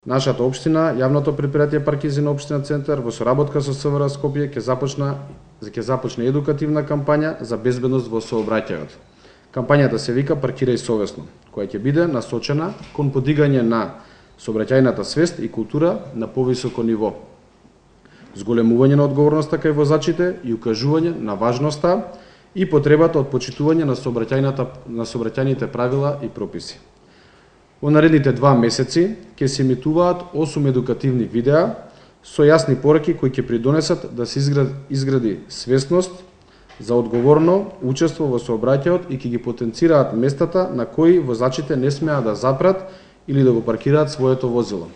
Нашата општина, јавното претпријатие Паркизи на општина Центар, во соработка со СВР Скопје ќе започне едукативна кампања за безбедност во сообраќајот. Кампањата се вика Паркирај совесно, која ќе биде насочена кон подигање на сообраќајната свест и култура на повисоко ниво, зголемување на одговорноста кај возачите и укажување на важноста и потребата од почитување на сообраќајните правила и прописи. Во наредните 2 месеци ќе се емитуваат 8 едукативни видеа со јасни пораки кои ќе придонесат да се изгради свесност за одговорно учество во сообраќајот и ќе ги потенцираат местата на кои возачите не смеат да запрат или да го паркираат своето возило.